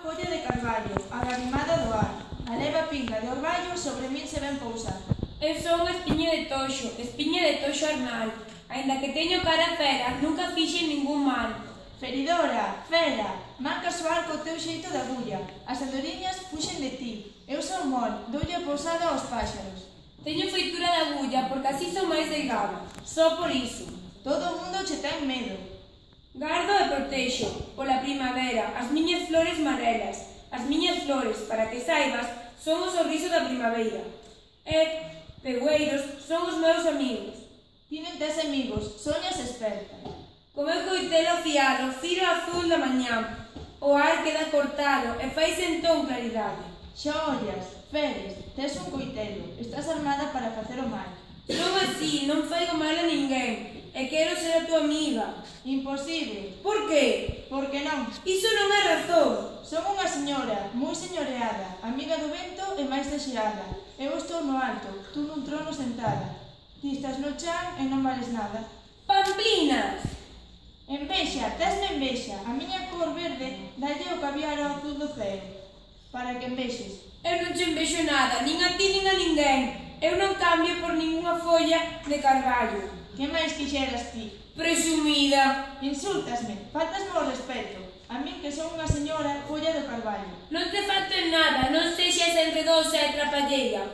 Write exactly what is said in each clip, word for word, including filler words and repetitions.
folla de carballo, agarimada do ar. A leva pinga de orballo sobre min se ven pousar. Eu son espiño de toxo, espiño de toxo arnal. Ainda que teño cara fera, nunca fixen ningún mal. Feridora, fera, manca soar co teu xeito de agulla. As andoriñas fuxen de ti. Eu son mol, doulle pousada aos páxaros. Teño feitura de agulla porque así son máis delgado. Só por iso. Todo o mundo che ten medo. Gardo e protexo, pola primavera, as miñas flores marelas. As miñas flores, para que saibas, son o sorriso da primavera. E, pegueiros, son os meus amigos. Ti non tes amigos, soñas esperta. Co meu coitelo afiado, firo azul da mañá. O ar queda cortado e faise entón claridade. Xa ollas, Feres, tes un coitelo, estás armada para facer o mal. Son así, non faigo mal a ninguén, e quero ser a tua amiga. Imposible. Por que? Por que non? Iso non é razón. Son unha señora, moi señoreada, amiga do vento e máis deseada. Eu estou no alto, tú nun trono sentada. Ti estás no chan e non vales nada. Pamplinas! Envexa, tesme envexa. A miña cor verde dalle o caviar ao azul do ceo. Para que envexes. Eu non che envexo nada, nin a ti nin a ninguén. Eu non cambio por ningunha folla de carballo. Que máis quixeras ti? Presumida. Insúltasme, faltasme o respeto. A min que son unha señora folla do carballo. Non te falto en nada, non sexas enredosa e trapalleira.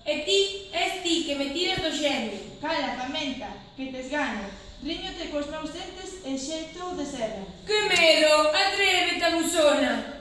E ti, és ti que me tiras do xenio. Cala, famenta, que tes gano. Riñote cos meus dentes en xeito de seda. Que medo, atrévete a musona.